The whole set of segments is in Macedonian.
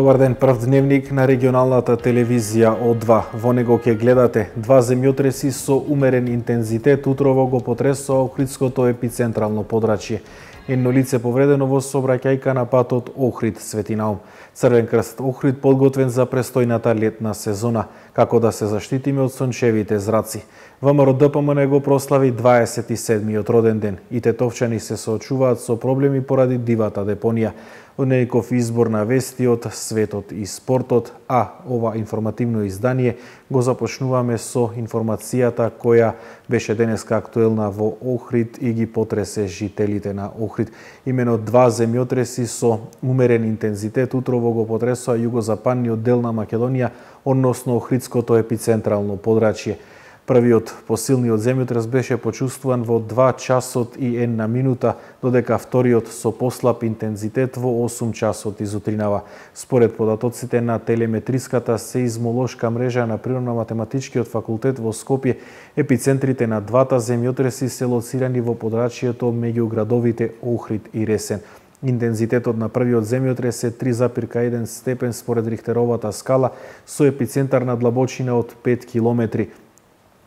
Добар ден, прв дневник на регионалната телевизија О2. Во него ќе гледате два земјотреси со умерен интензитет утрово го потресоа Охридското епицентрално подрачје. Едно лице повредено во сообраќајка на патот Охрид-Свети Наум. Црвен крст Охрид подготвен за престојната летна сезона, како да се заштитиме од сончевите зраци. ВМРО ДПМН го прослави 27-миот роден ден и тетовчани се соочуваат со проблеми поради дивата депонија. Од некој избор на вести од светот и спортот, а ова информативно издание го започнуваме со информацијата која беше денеска актуелна во Охрид и ги потресе жителите на Охрид. Имено два земјотреси со умерен интензитет утрово го потресоа југозападниот дел на Македонија, односно Охридското епицентрално подрачје. Првиот посилниот земјотрес беше почувствуван во 2 часот и 1 минута, додека вториот со послаб интензитет во 8 часот изутринава. Според податоците на телеметриската сеизмолошка мрежа на Природно-математичкиот факултет во Скопје, епицентрите на двата земјотреси се лоцирани во подрачјето меѓу градовите Охрид и Ресен. Интензитетот на првиот земјотрес е 3,1 степен според Рихтеровата скала, со епицентар на длабочина од 5 километри,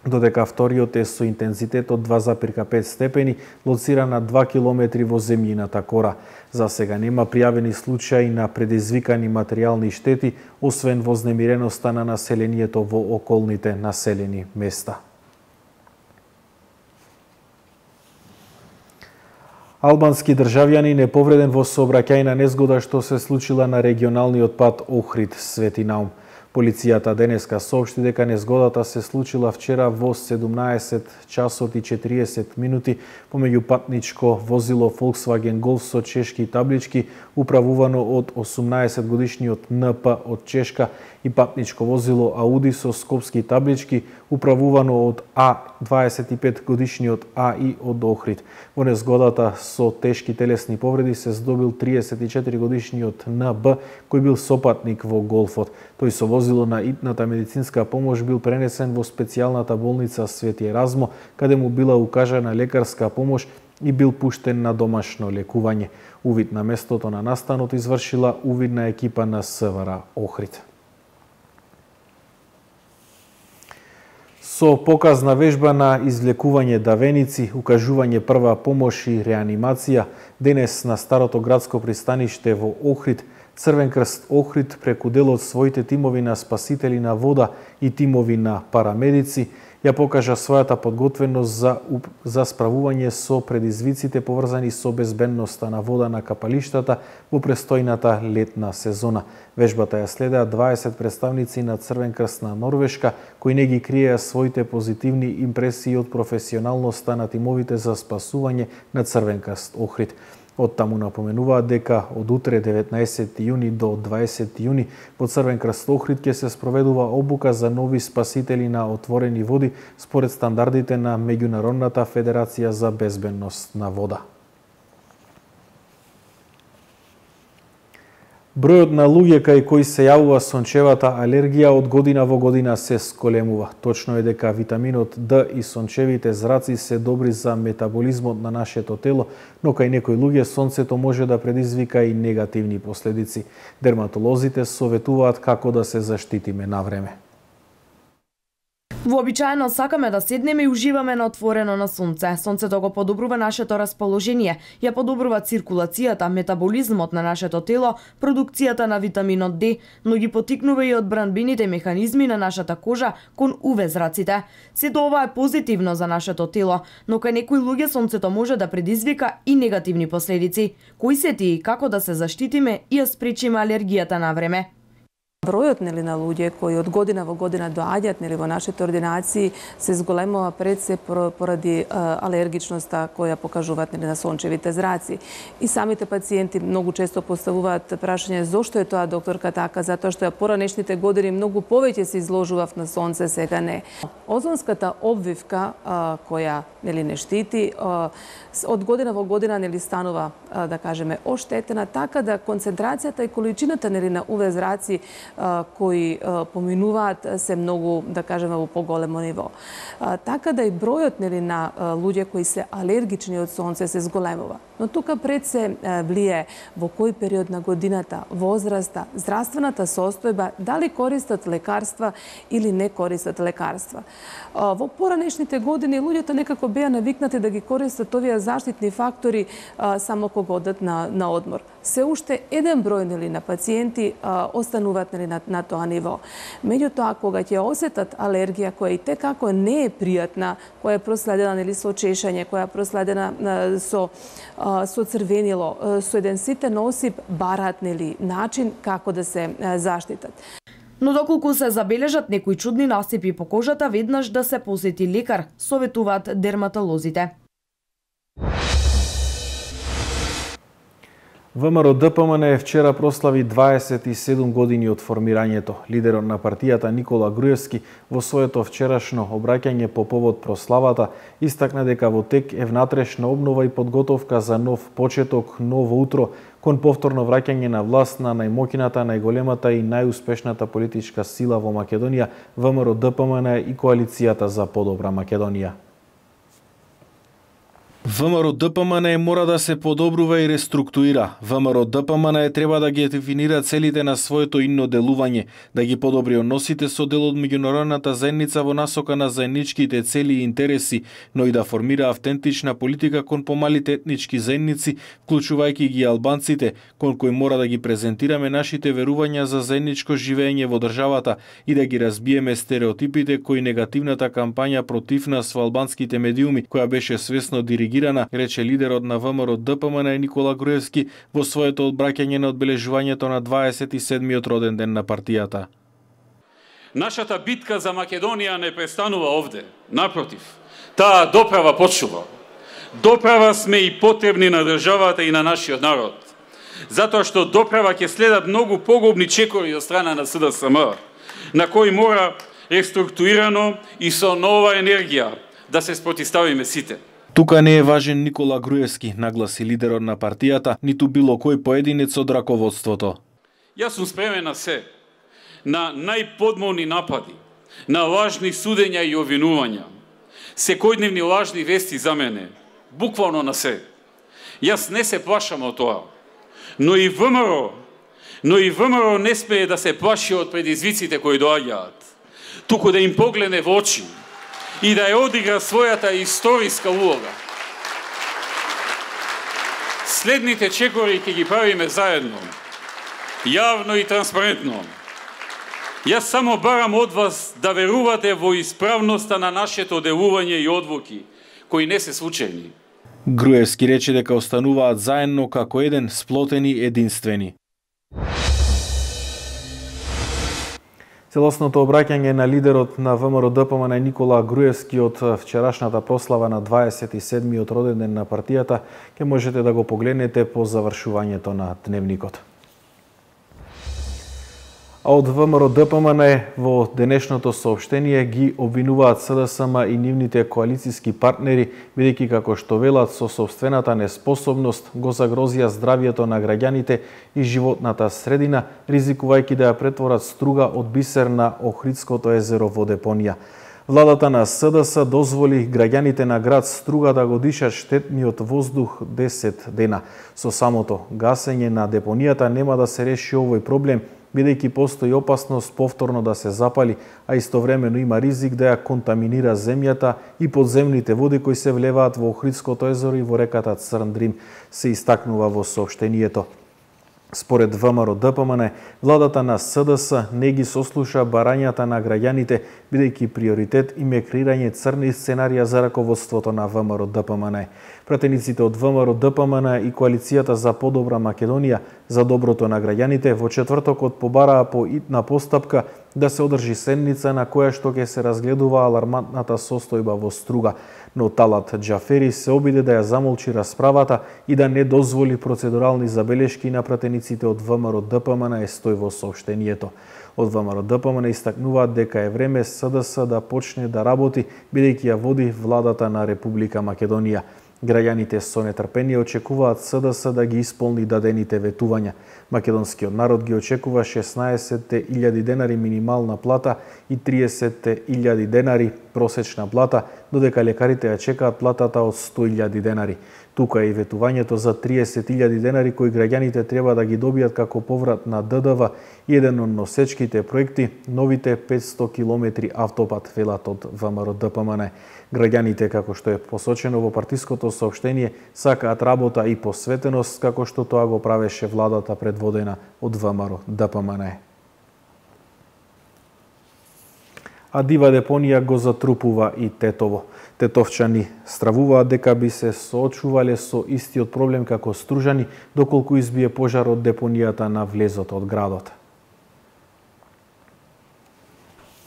додека вториот е со интензитет од 2,5 степени, лоциран на 2 километри во земјината кора. За сега нема пријавени случаи на предизвикани материјални штети, освен вознемиреноста на населението во околните населени места. Албански државјанин е повреден во сообраќајна незгода што се случила на регионалниот пат Охрид-Свети Наум. Полицијата денеска соопшти дека незгодата се случила вчера во 17 часот и 40 минути помеѓу патничко возило Volkswagen Golf со чешки таблички, управувано од 18 годишниот НП од Чешка, и патничко возило Ауди со скопски таблички, управувано од А 25 годишниот АИ од Охрид. Во незгодата со тешки телесни повреди се здобил 34 годишниот НБ, кој бил сопатник во Голфот. Тој со возило на итната медицинска помош бил пренесен во специјалната болница Свети Еразмо, каде му била укажана лекарска помош и бил пуштен на домашно лекување. Увид на местото на настанот извршила увидна екипа на СВР Охрид. Со показна вежба на извлекување давеници, укажување прва помош и реанимација, денес на старото градско пристаниште во Охрид, Црвен крст Охрид преку дел од своите тимови на спасители на вода и тимови на парамедици ја покажа својата подготвеност за справување со предизвиците поврзани со безбедноста на вода на капалиштата во престојната летна сезона. Вежбата ја следеа 20 представници на Црвен крст на Норвешка, кои не ги криеа своите позитивни импресии од професионалноста на тимовите за спасување на Црвен крст Охрид. Од таму напоменуваат дека од утре 19 јуни до 20 јуни во Црвен крст Охрид ќе се спроведува обука за нови спасители на отворени води според стандардите на Меѓународната федерација за безбедност на вода. Бројот на луѓе кај кои се јавува сончевата алергија од година во година се сколемува. Точно е дека витаминот Д и сончевите зраци се добри за метаболизмот на нашето тело, но кај некои луѓе сонцето може да предизвика и негативни последици. Дерматолозите советуваат како да се заштитиме на време. Вообичаено сакаме да седнеме и уживаме на отворено на сонце. Сонцето го подобрува нашето расположение, ја подобрува циркулацијата, метаболизмот на нашето тело, продукцијата на витаминот Д, но ги потикнува и одбранбените механизми на нашата кожа кон УВ зраците. Сето ова е позитивно за нашето тело, но кај некои луѓе сонцето може да предизвика и негативни последици. Кои се тие и како да се заштитиме и ја спречиме алергијата на време? Бројот на луѓе кои од година во година доаѓаат во нашите ординации се зголемува пред се поради алергичноста која покажуваат на сончевите зраци. И самите пациенти многу често поставуваат прашање зошто е тоа, докторка, така, затоа што ја поранешните години многу повеќе се изложував на сонце, сега не. Озонската обвивка која не штити од година во година станува, да кажеме, оштетена, така да концентрацијата и количината на УВ зраци кои поминуваат се многу, да кажеме, во поголемо ниво. Така да и бројот на луѓе кои се алергични од сонце се зголемува. Но тука пред се влие во кој период на годината, возраста, здравствената состојба, дали користат лекарства или не користат лекарства. Во поранешните години луѓето некако беа навикнати да ги користат овие заштитни фактори само кога одат на одмор. Се уште еден број на пациенти остануваат на тоа ниво. Меѓутоа, кога ќе осетат алергија која и текако не е пријатна, која е проследена со чешање, која е проследена со црвенило, со еден ситен осип, бараат начин како да се заштитат. Но доколку се забележат некои чудни насипи по кожата, веднаш да се посети лекар, советуваат дерматолозите. ВМРО-ДПМН вчера прослави 27 години од формирањето. Лидерот на партијата Никола Груевски во своето вчерашно обраќање по повод прославата истакна дека во тек е внатрешна обнова и подготовка за нов почеток, ново утро, кон повторно враќање на власт на најмоќната, најголемата и најуспешната политичка сила во Македонија, ВМРО-ДПМН и Коалицијата за подобра Македонија. ВМРО-ДПМН мора да се подобрува и реструктурира. ВМРО-ДПМН треба да ги дефинира целите на своето инно делување, да ги подобри односите со дел од меѓународната заедница во насока на заедничките цели и интереси, но и да формира автентична политика кон помалите етнички заедници, вклучувајќи ги албанците, кон кои мора да ги презентираме нашите верувања за заедничко живење во државата и да ги разбиеме стереотипите кои негативната кампања против нас во албанските медиуми, која беше свесно диригирана, рече лидерот на ВМРО-ДПМН Никола Груевски во своето одбраќање на одбележувањето на 27-миот роден ден на партијата. Нашата битка за Македонија не престанува овде. Напротив, таа доправа почува. Доправа сме и потребни на државата и на нашиот народ. Затоа што доправа ќе следат многу погубни чекори од страна на СДСМ, на кои мора реструктурирано и со нова енергија да се спротивставиме сите. Тука не е важен Никола Груевски, нагласи лидерот на партијата, ниту било кој поединец од раководството. Јас сум спремен на се, на најподмолни напади, на лажни судења и обвинувања, секојдневни лажни вести за мене, буквално на се. Јас не се плашам од тоа, но и ВМРО не смее да се плаши од предизвиците кои доаѓаат, туку да им погледне во очи и да ја одигра својата историска улога. Следните чекори ќе ги правиме заедно, јавно и транспарентно. Јас само барам од вас да верувате во исправноста на нашето делување и одлуки, кои не се случајни. Груевски рече дека остануваат заедно како еден, сплотени, единствени. Целосното обраќање на лидерот на ВМРО-ДПМН Никола Груевски од вчерашната прослава на 27-миот роден ден на партијата ќе можете да го погледнете по завршувањето на дневникот. А од ВМРО-ДПМН во денешното соопштение ги обвинуваат СДСМ и нивните коалициски партнери, бидејќи како што велат со сопствената неспособност го загрозија здравјето на граѓаните и животната средина, ризикувајќи да ја претворат Струга од бисер на Охридското езеро во депонија. Владата на СДС дозволи граѓаните на град Струга да го дишат штетниот воздух 10 дена. Со самото гасење на депонијата нема да се реши овој проблем, бидејќи постои опасност повторно да се запали, а истовремено има ризик да ја контаминира земјата и подземните води кои се влеваат во Охридското езеро и во реката Црн Дрим, се истакнува во соопштението. Според ВМРО-ДПМН, владата на СДС не ги сослуша барањата на граѓаните, бидејќи приоритет им е креирање црни сценарија за раководството на ВМРО-ДПМН. Пратениците од ВМРО-ДПМН и Коалицијата за подобра Македонија за доброто на граѓаните во четвртокот побараа по итна постапка да се одржи седница на која што ќе се разгледува алармантната состојба во Струга, но Талат Џафери се обиде да ја замолчи расправата и да не дозволи процедурални забелешки на пратениците од ВМРО-ДПМН, е стои во соопштението. Од ВМРО-ДПМН истакнуваат дека е време СДС да почне да работи, бидејќи ја води владата на Република Македонија. Граѓаните со нетрпение очекуваат СДС да ги исполни дадените ветувања. Македонскиот народ ги очекува 16.000 денари минимална плата и 30.000 денари просечна плата, додека лекарите ја чекаат платата од 100.000 денари. Тука е и ветувањето за 30.000 денари кои граѓаните треба да ги добијат како поврат на ДДВ и еден од носечките проекти новите 500 километри автопат, велат од ВМРО ДПМН. Граѓаните, како што е посочено во партиското соопштение, сакаат работа и посветеност како што тоа го правеше владата предводена од ВМРО ДПМН. А дива депонија го затрупува и Тетово. Тетовчани стравуваат дека би се соочувале со истиот проблем како Стружани, доколку избие пожар од депонијата на влезот од градот.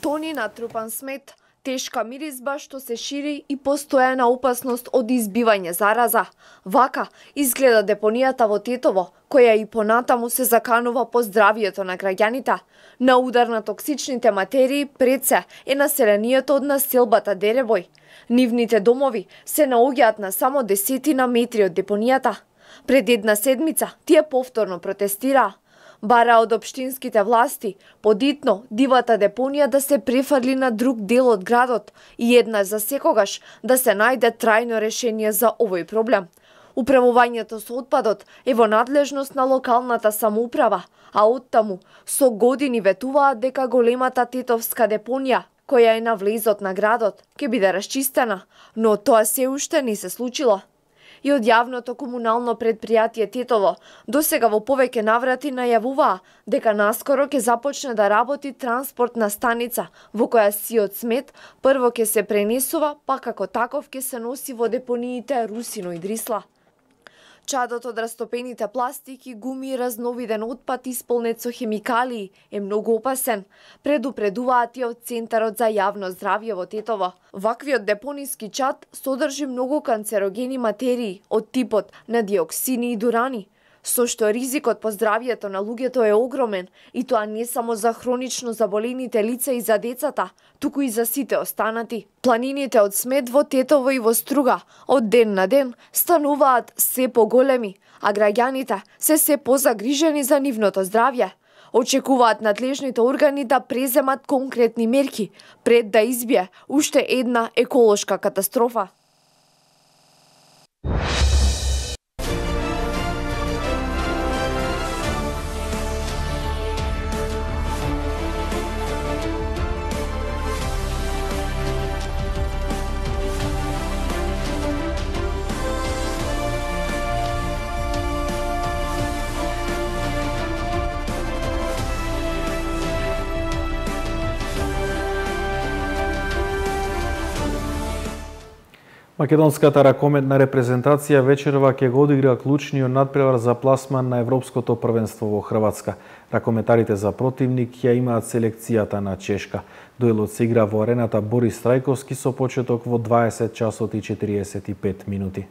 Тони натрупан смет, тешка миризба што се шири и постојана опасност од избивање зараза. Вака изгледа депонијата во Тетово, која и понатаму се заканува по здравието на граѓаните. На удар на токсичните материи пред се е населението од населбата Деребој. Нивните домови се наоѓаат на само 10 метри од депонијата. Пред една седмица тие повторно протестираа. Бара од општинските власти подитно дивата депонија да се префарли на друг дел од градот и еднаш за секогаш да се најде трајно решение за овој проблем. Управувањето со отпадот е во надлежност на локалната самоуправа, а оттаму со години ветуваат дека големата тетовска депонија, која е на влезот на градот, ќе биде расчистена, но тоа се уште не се случило. И од јавното комунално предпријатие Тетово досега во повеќе наврати најавуваа дека наскоро ќе започне да работи транспортна станица во која сиот смет прво ќе се пренесува, па како таков ќе се носи во депониите Русино и Дрисла. Чадот од растопените пластики, гуми и разновиден отпад исполнет со хемикалии е многу опасен, предупредуваат и од Центарот за јавно здравје во Тетово. Ваквиот депониски чад содржи многу канцерогени материи од типот на диоксини и дурани, со што ризикот по здравјето на луѓето е огромен и тоа не само за хронично заболените лица и за децата, туку и за сите останати. Планините од смет во Тетово и во Струга од ден на ден стануваат се поголеми, а граѓаните се позагрижени за нивното здравје. Очекуваат надлежните органи да преземат конкретни мерки пред да избие уште една еколошка катастрофа. Македонската ракометна репрезентација вечерва ќе го одигра клучниот надпревар за пласман на Европското првенство во Хрватска. Ракометарите за противник ја имаат селекцијата на Чешка. Дуелот се игра во арената Борис Трајковски со почеток во 20 часот и 45 минути.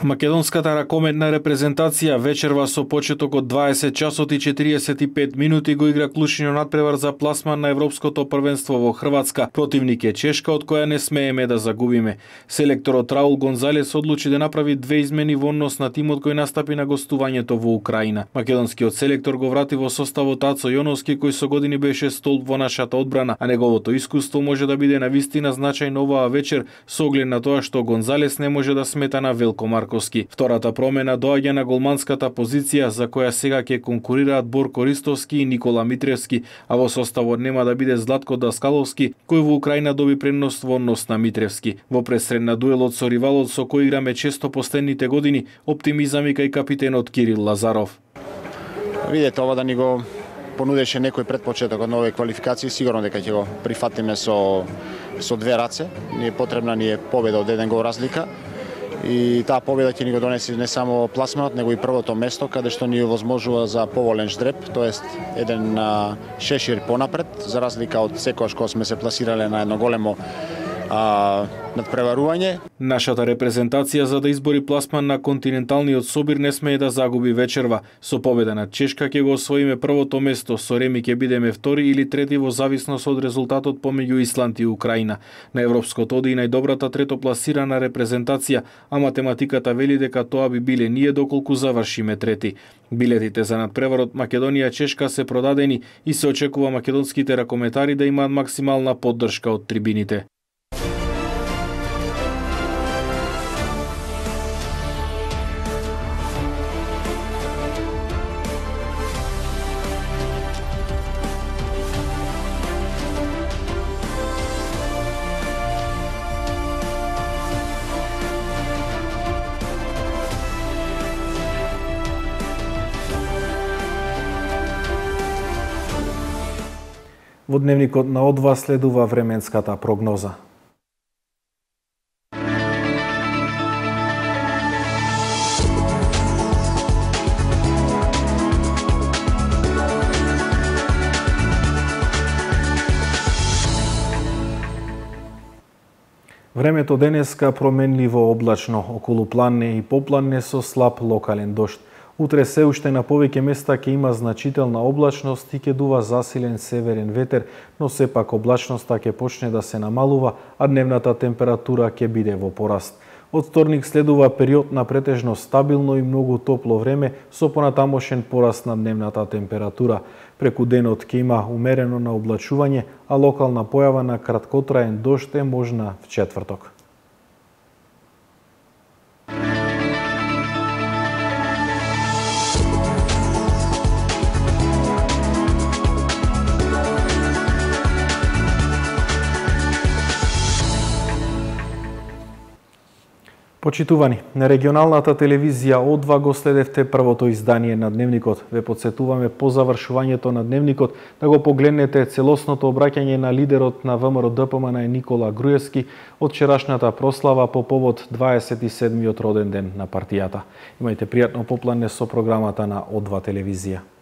Македонската ракометна репрезентација вечерва со почеток од 20 часот и 45 минути го игра клучниот надпревар за пласман на Европското првенство во Хрватска. Противник е Чешка, од која не смееме да загубиме. Селекторот Раул Гонзалес одлучи да направи две измени во однос на тимот кој настапи на гостувањето во Украина. Македонскиот селектор го врати во составот Ацо Јоновски, кој со години беше столб во нашата одбрана, а неговото искуство може да биде навистина значајно оваа вечер со оглед на тоа што Гонзалес не може да смета на Велко Марковски. Втората промена доаѓа на голманската позиција за која сега ќе конкурираат Борко Ристовски и Никола Митревски, а во составот нема да биде Златко Даскаловски, кој во Украина доби предност во однос на Митревски. Во пресредна дуелот со ривалот со кој играме често последните години, оптимизам и кај капитенот Кирил Лазаров. Видете, ова да ни го понудеше некој предпочеток од нови квалификации, сигурно дека ќе го прифатиме со две раце. Потребна ни е победа од еден гол разлика. И таа победа ќе ни го донесе не само пласманот, него и првото место, каде што ни овозможува за поволен ждреб, тоест еден шешир понапред, за разлика од секојаш кога сме се пласирале на едно големо надпреварување. Нашата репрезентација за да избори пласман на континенталниот собир не смее да загуби вечерва. Со победа над Чешка ќе го освоиме првото место, со реми ќе бидеме втори или трети во зависност од резултатот помеѓу Исланд и Украина. На европското оди и најдобрата третопласирана репрезентација, а математиката вели дека тоа би биле ние доколку завршиме трети. Билетите за надпреварот Македонија-Чешка се продадени и се очекува македонските ракометари да имаат максимална поддршка од трибините. Во дневникот на О2 следува временската прогноза. Времето денеска променливо облачно, околу планне и попланне со слаб локален дожд. Утре се уште на повеќе места ќе има значителна облачност и ќе дува засилен северен ветер, но сепак облачноста ќе почне да се намалува, а дневната температура ќе биде во пораст. Од вторник следува период на претежно стабилно и многу топло време со понатамошен пораст на дневната температура. Преку денот ќе има умерено на облачување, а локална појава на краткотраен дожд е можна в четврток. Почитувани, на регионалната телевизија О2 го следевте првото издание на Дневникот. Ве подсетуваме по завршувањето на Дневникот да го погледнете целосното обраќање на лидерот на ВМРО-ДПМН Никола Груевски од вчерашната прослава по повод 27-миот роден ден на партијата. Имајте пријатно поплане со програмата на О2 телевизија.